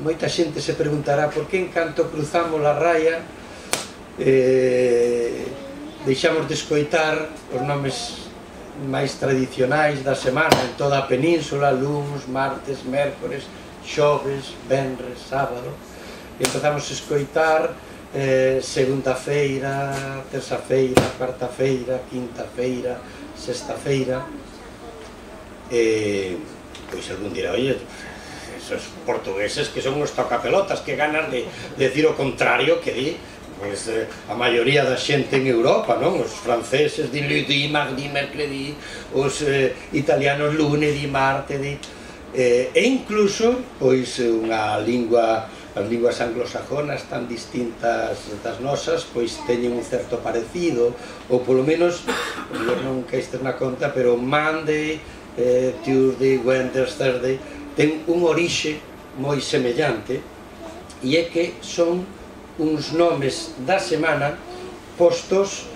moita xente se preguntará por que en canto cruzamos a raya deixamos de escoitar os nomes máis tradicionais da semana en toda a península: luns, martes, mércores, xoves, venres, sábado, e empezamos a escoitar segunda-feira, terça-feira, cuarta-feira, quinta-feira, sexta-feira. Pois algún dirá, oye, esos portugueses que son uns tocapelotas, que ganas de decir o contrario que di a maioría da xente en Europa, non? Os franceses di lundi, mardi, mercredi, os italianos lune, di marte, di... E incluso, pois, unha lingua, as linguas anglosajonas tan distintas das nosas, pois teñen un certo parecido, ou polo menos, non caístes na conta, pero Monday, Tuesday, Wednesday, Thursday, ten un orixe moi semellante, e é que son uns nomes da semana postos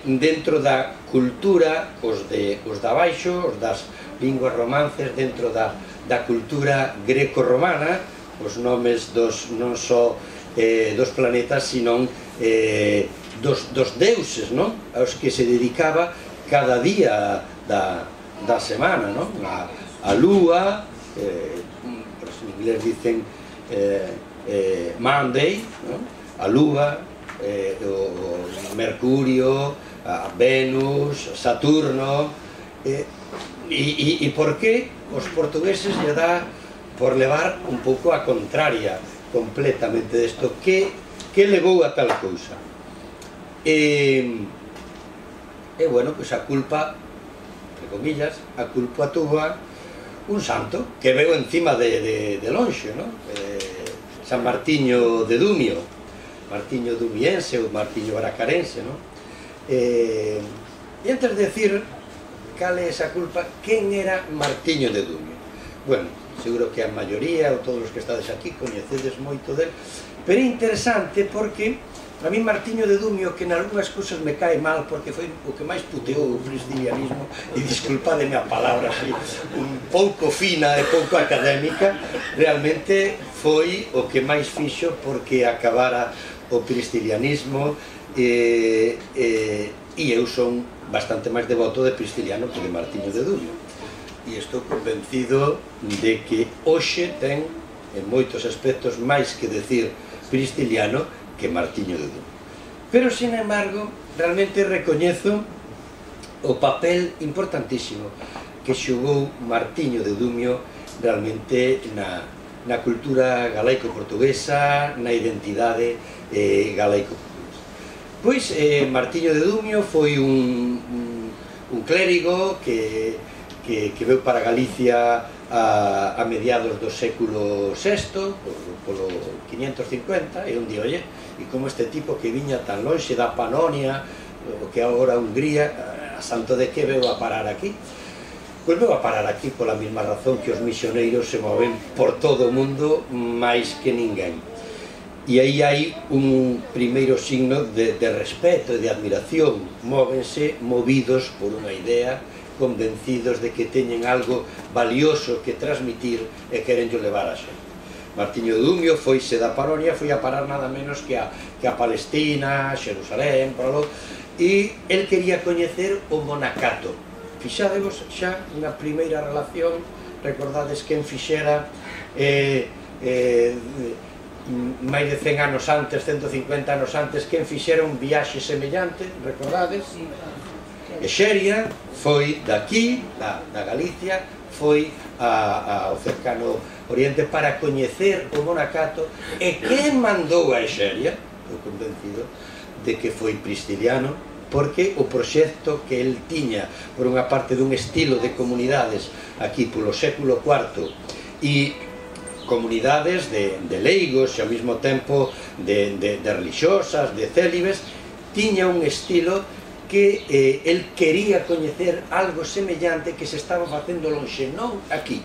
dentro da cultura, os da baixo, os das linguas romances, dentro da cultura greco-romana, os nomes non só dos planetas, sino dos deuses, non? Aos que se dedicaba cada día da semana, non? A lúa, os inglés dicen Monday, a lúa, o Mercurio, a Venus, Saturno. E por que os portugueses lle dá por levar un pouco a contraria completamente desto? Que levou a tal cousa? Bueno, pois a culpa, entre comillas, a culpa túa un santo que veu encima de lonxe, non? San Martiño de Dumio, Martiño dumiense ou Martiño bracarense, non? E antes de decir cal é esa culpa, quen era Martiño de Dumio? Bueno, seguro que a maioría ou todos os que estades aquí coñecedes moito del, pero é interesante porque a mí Martiño de Dumio, que en algunhas cousas me cae mal porque foi o que máis puteou o cristianismo, e disculpademe a palabra así un pouco fina e pouco académica, realmente foi o que máis fixo porque acabara o cristianismo, e eu son bastante máis devoto de Prisciliano que de Martiño de Dumio, e estou convencido de que hoxe ten en moitos aspectos máis que decir Prisciliano que Martiño de Dumio. Pero, sin embargo, realmente recoñezo o papel importantísimo que xogou Martiño de Dumio realmente na cultura galaico-portuguesa, na identidade galaico-portuguesa. Pois, Martiño de Dumio foi un clérigo que veu para Galicia a mediados do século VI, polo 550, e un día, oye, e como este tipo que viña tan lonxe da Panonia, o que agora Hungría, a santo de que veu a parar aquí? Pois veu a parar aquí pola mesma razón que os misioneiros se moven por todo o mundo máis que ninguén. E aí hai un primeiro signo de respeto e de admiración, móvense movidos por unha idea, convencidos de que teñen algo valioso que transmitir e querenllo levar a xente. Martiño de Dumio foise da Panonia, foi a parar nada menos que a Palestina, Xerusalén, e el quería coñecer o monacato. Fixadevos xa unha primeira relación, recordades quen fixera máis de 100 anos antes, 150 anos antes, quen fixera un viaxe semellante, recordades? Exeria foi daqui, da Galicia, foi ao cercano Oriente para coñecer o monacato, e quen mandou a Exeria, estou convencido de que foi Prisciliano, porque o proxecto que el tiña, por unha parte dun estilo de comunidades aquí polo século IV, e comunidades de leigos e ao mesmo tempo de religiosas, de célibes, tiña un estilo que el quería coñecer algo semellante que se estaba facendo lonxe, non aquí.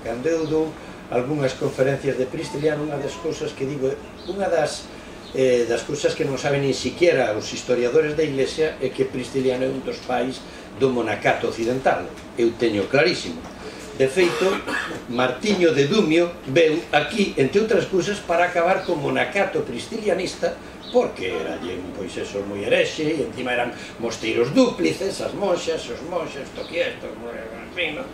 Cando eu dou algunhas conferencias de Prisciliano, unha das cousas que digo, unha das cousas que non saben nin siquiera os historiadores da Iglesia é que Prisciliano é un dos pais do monacato occidental. Eu teño clarísimo. De feito, Martiño de Dumio veu aquí, entre outras cousas, para acabar co monacato pristilianista, porque era, pois eso, moi herexe, e encima eran mosteiros dúplices, as monxas, os monxes, toquietos, en fin, non?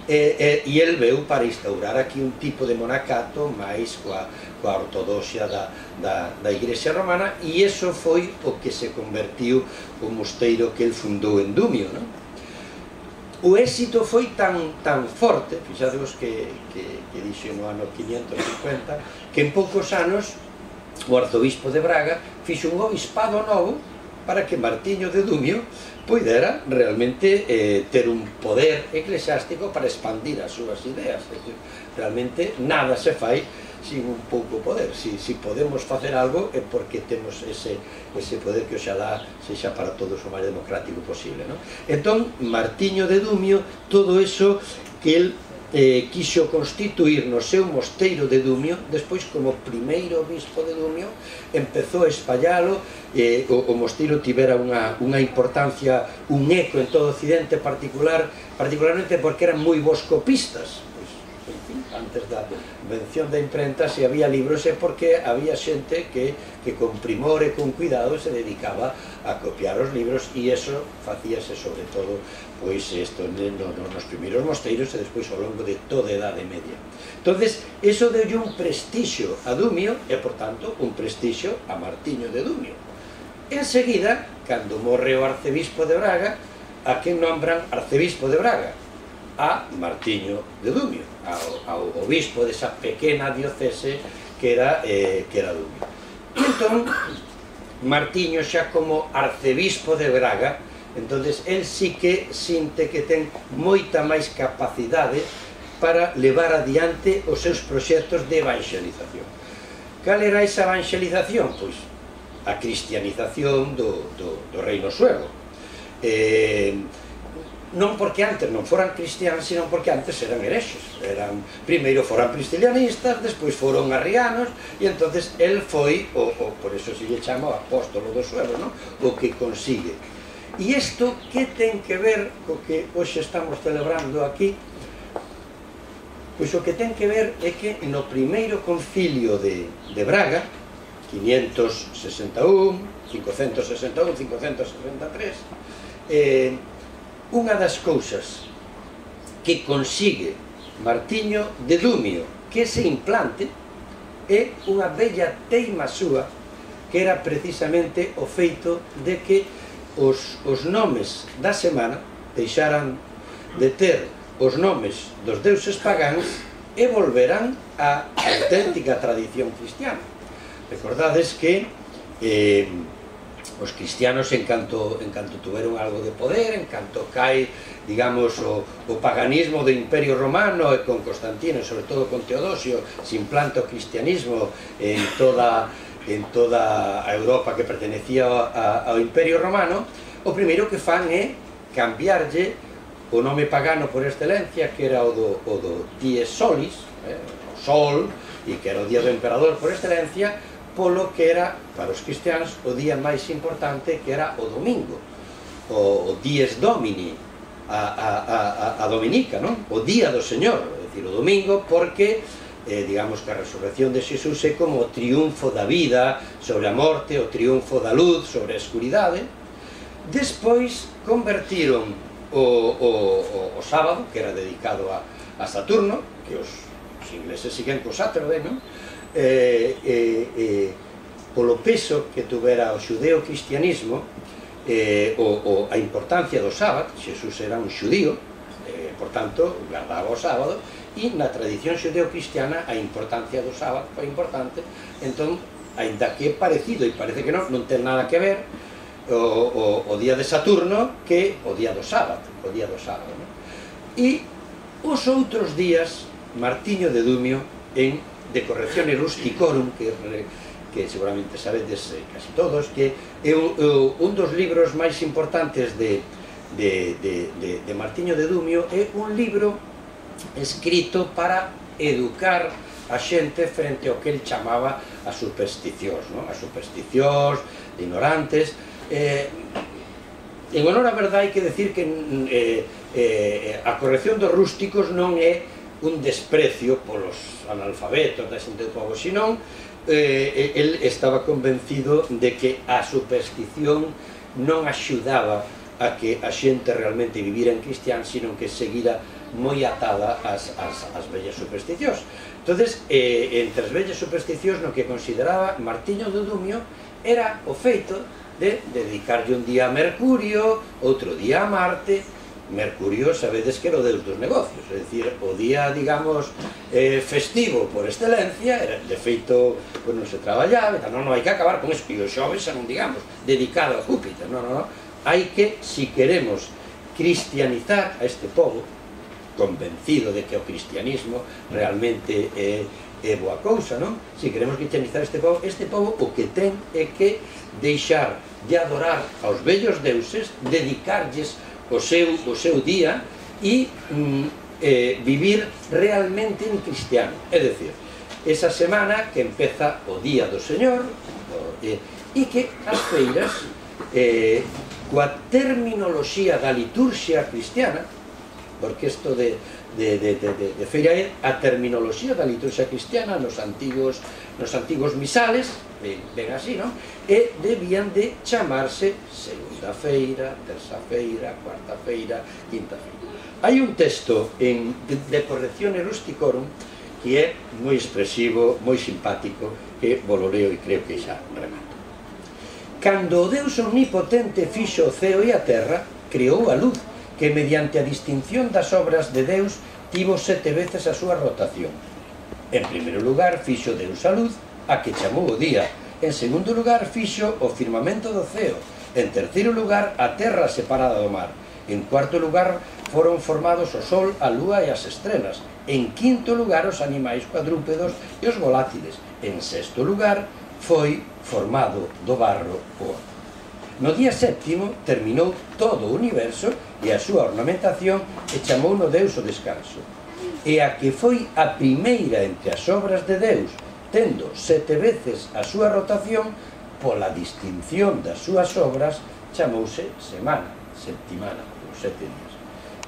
E el veu para instaurar aquí un tipo de monacato máis coa ortodoxia da Igrexa Romana, e iso foi o que se convertiu o mosteiro que el fundou en Dumio, non? O éxito foi tan forte, fixadevos que dixo no ano 550, que en poucos anos o arzobispo de Braga fixo un obispado novo para que Martiño de Dumio poidera realmente ter un poder eclesiástico para expandir as súas ideas. Realmente nada se fai sin un pouco poder. Si podemos facer algo é porque temos ese poder que oxalá sexa para todos o máis democrático posible, non? Entón, Martiño de Dumio, todo eso que el quixo constituir no seu mosteiro de Dumio, despois como primeiro obispo de Dumio, empezou a espallalo, o mosteiro tivera unha importancia, un eco en todo o Occidente, particularmente porque eran moi bons copistas. Antes da invención da imprenta, se había libros é porque había xente que con primor e con cuidado se dedicaba a copiar os libros, e eso facíase sobre todo pois isto nos primeiros mosteiros e despois ao longo de toda a Edade Media. Entonces, eso deulle un prestixio a Dumio e, por tanto, un prestixio a Martiño de Dumio. Enseguida, cando morre o arcebispo de Braga, a quen nombran arcebispo de Braga? A Martiño de Dumio, ao obispo desa pequena diocese que era Dumio. E entón, Martiño xa como arcebispo de Braga, entonces el sí que sinte que ten moita máis capacidade para levar adiante os seus proxectos de evangelización. Cal era esa evangelización? Pois a cristianización do reino suevo. Non porque antes non foran cristianos, sino porque antes eran herexes. Primeiro foran pristilianistas, despois foron arrianos, e entonces el foi, por eso se lle chama o apóstolo do suelo, o que consigue. E isto que ten que ver co que hoxe estamos celebrando aquí? Pois o que ten que ver é que no primeiro concilio de Braga, 561, 563, unha das cousas que consigue Martiño de Dumio que se implante é unha bella teima súa, que era precisamente o feito de que os nomes da semana deixaran de ter os nomes dos deuses pagáns e volveran á auténtica tradición cristiana. Recordades que os cristianos, en canto tuveron algo de poder, en canto cae, digamos, o paganismo do Imperio Romano, e con Constantino, e sobre todo con Teodosio, se implanta o cristianismo en toda a Europa que pertenecía ao Imperio Romano, o primeiro que fan é cambiarlle o nome pagano por excelencia, que era o do Dies Solis, o Sol, e que era o día do emperador por excelencia, polo que era, para os cristianos, o día máis importante, que era o domingo, o Dies Domini, a Dominica, non? O día do Señor, é dicir, o domingo, porque digamos que a resurrección de Xesús é como o triunfo da vida sobre a morte, o triunfo da luz sobre a escuridade. Despois convertiron o sábado, que era dedicado a Saturno, que os ingleses siguen co Saturday, non? Polo peso que tuvera o xudeo-cristianismo, a importancia do sábado. Xesús era un xudío, por tanto, guardaba o sábado, e na tradición xudeo-cristiana a importancia do sábado foi importante. Entón, aínda que é parecido, e parece que non ten nada que ver o día de Saturno que o día do sábado, E os outros días, Martiño de Dumio, en De Correctione Rusticorum, que seguramente sabedes casi todos, que é un dos libros máis importantes de Martiño de Dumio, é un libro escrito para educar a xente frente ao que el chamaba as supersticións, as supersticións de ignorantes. En honor á verdade hai que decir que a corrección dos rústicos non é un desprecio polos analfabetos da xente do povo, senón el estaba convencido de que a superstición non axudaba a que a xente realmente vivira en cristián, sino que seguira moi atada ás vellas supersticións. Entonces, entre as vellas supersticións, no que consideraba Martiño de Dumio era o feito de dedicarlle un día a Mercurio, outro día a Marte. Mercurio, sabedes que era o deus dos negocios, é dicir, o día, digamos, festivo por excelencia, era, de feito, non se traballaba, non hai que acabar con eso, e o xoves non, digamos, dedicado a Júpiter, non, hai que, si queremos cristianizar a este povo, convencido de que o cristianismo realmente é boa cousa, non? Si queremos cristianizar este povo o que ten é que deixar de adorar aos vellos deuses, dedicarlles o seu día e vivir realmente en cristiano. É dicir, esa semana que empeza o Día do Señor e que as feiras, coa terminoloxía da liturxia cristiana, porque isto de feira é a terminoloxía da liturxia cristiana nos antigos misales, ben así, non? E debían de chamarse segunda feira, terza feira, cuarta feira, quinta feira. Hai un texto de Correczione Rusticorum que é moi expresivo, moi simpático, que vos lo leo e creo que xa remato. Cando o Deus omnipotente fixo o ceo e a terra, creou a luz, que mediante a distinción das obras de Deus tivo 7 veces a súa rotación. En primeiro lugar fixo Deus a luz, a que chamou o día. En segundo lugar fixo o firmamento do ceo. En terceiro lugar a terra separada do mar. En cuarto lugar foron formados o sol, a lúa e as estrelas. En quinto lugar os animais cuadrúpedos e os volátiles. En sexto lugar foi formado do barro o homem. No día séptimo terminou todo o universo e a súa ornamentación e chamou no Deus o descanso. E a que foi a primeira entre as obras de Deus, tendo 7 veces a súa rotación, pola distinción das súas obras, chamouse semana, septimana, os 7 días.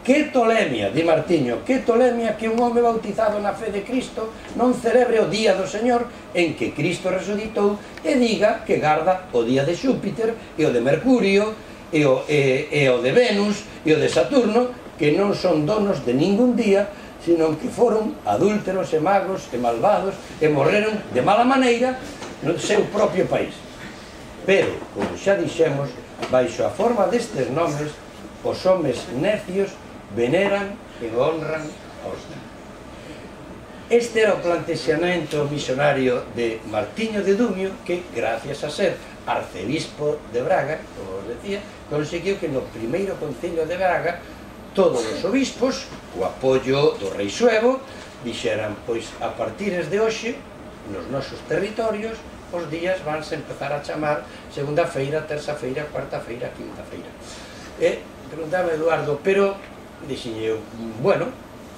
Que tolemia, di Martiño, que tolemia que un home bautizado na fe de Cristo non celebre o día do Señor en que Cristo resucitou e diga que garda o día de Xúpiter e o de Mercurio e o de Venus e o de Saturno, que non son donos de ningún día, sino que foron adúlteros e magos e malvados e morreron de mala maneira no seu propio país. Pero, como xa dixemos, baixo a forma destes nomes, os homes necios veneran e honran aos demais. Este era o plantexamento misionario de Martiño de Dumio, que, gracias a ser arcebispo de Braga, como os decía, conseguiu que no primeiro concilio de Braga todos os obispos, o apoio do rei Suevo, dixeran, pois, a partires de hoxe, nos nosos territorios, os días vanse empezar a chamar segunda feira, terza feira, cuarta feira, quinta feira. E preguntaba Eduardo, pero, dixenlle eu, bueno,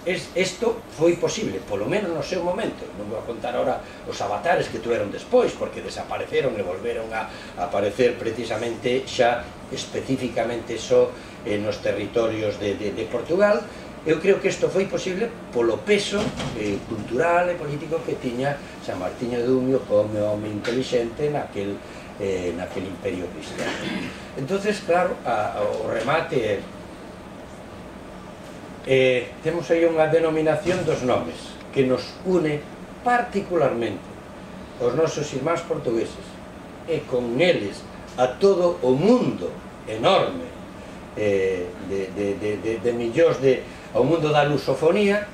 isto foi posible, polo menos no seu momento. Non vou a contar ahora os avatares que tuveron despois, porque desapareceron e volveron a aparecer precisamente xa especificamente só nos territorios de Portugal. Eu creo que isto foi posible polo peso cultural e político que tiña San Martiño de Dumio como home inteligente naquel imperio cristiano. Entonces, claro, o remate temos aí unha denominación dos nomes que nos une particularmente os nosos irmáns portugueses e con eles a todo o mundo enorme de millóns ao mundo da lusofonía.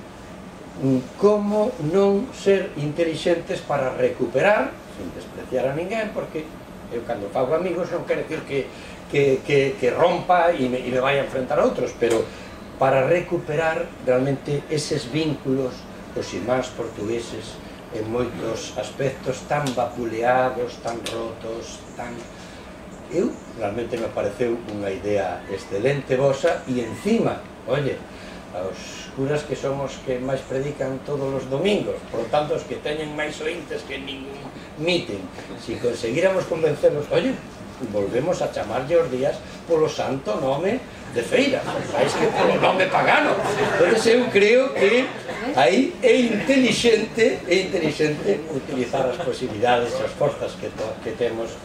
Como non ser intelixentes para recuperar, sin despreciar a ninguén, porque eu cando fago amigos non quero decir que rompa e me vai a enfrentar a outros, pero para recuperar realmente eses vínculos dos irmáns portugueses en moitos aspectos tan vapuleados, tan rotos, tan... Eu realmente me pareceu unha idea excelente vosa e encima, oye, aos curas que somos que máis predican todos os domingos, por tanto os que teñen máis ointes que ningún meeting, se conseguíramos convencerlos, oye, volvemos a chamarlle os días polo santo nome de feira, máis que polo nome pagano. Entón eu creo que aí é inteligente utilizar as posibilidades, as forzas que temos